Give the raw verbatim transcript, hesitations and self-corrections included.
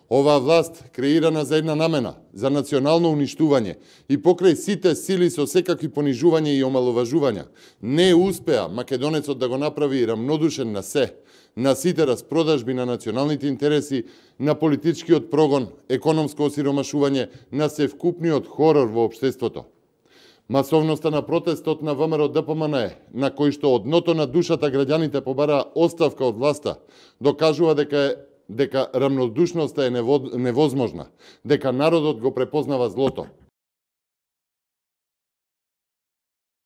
Оваа власт, креирана за една намена, за национално уништување и покрај сите сили со секакви понижување и омаловажувања, не успеа македонецот да го направи рамнодушен на се, на сите распродажби на националните интереси, на политичкиот прогон, економско осиромашување, на севкупниот хорор во општеството. Масовноста на протестот на ВМРО Д П М Н Е, на кој што од дното на душата граѓаните побараа оставка од власта, докажува дека е дека рамнодушноста е невозможна, дека народот го препознава злото.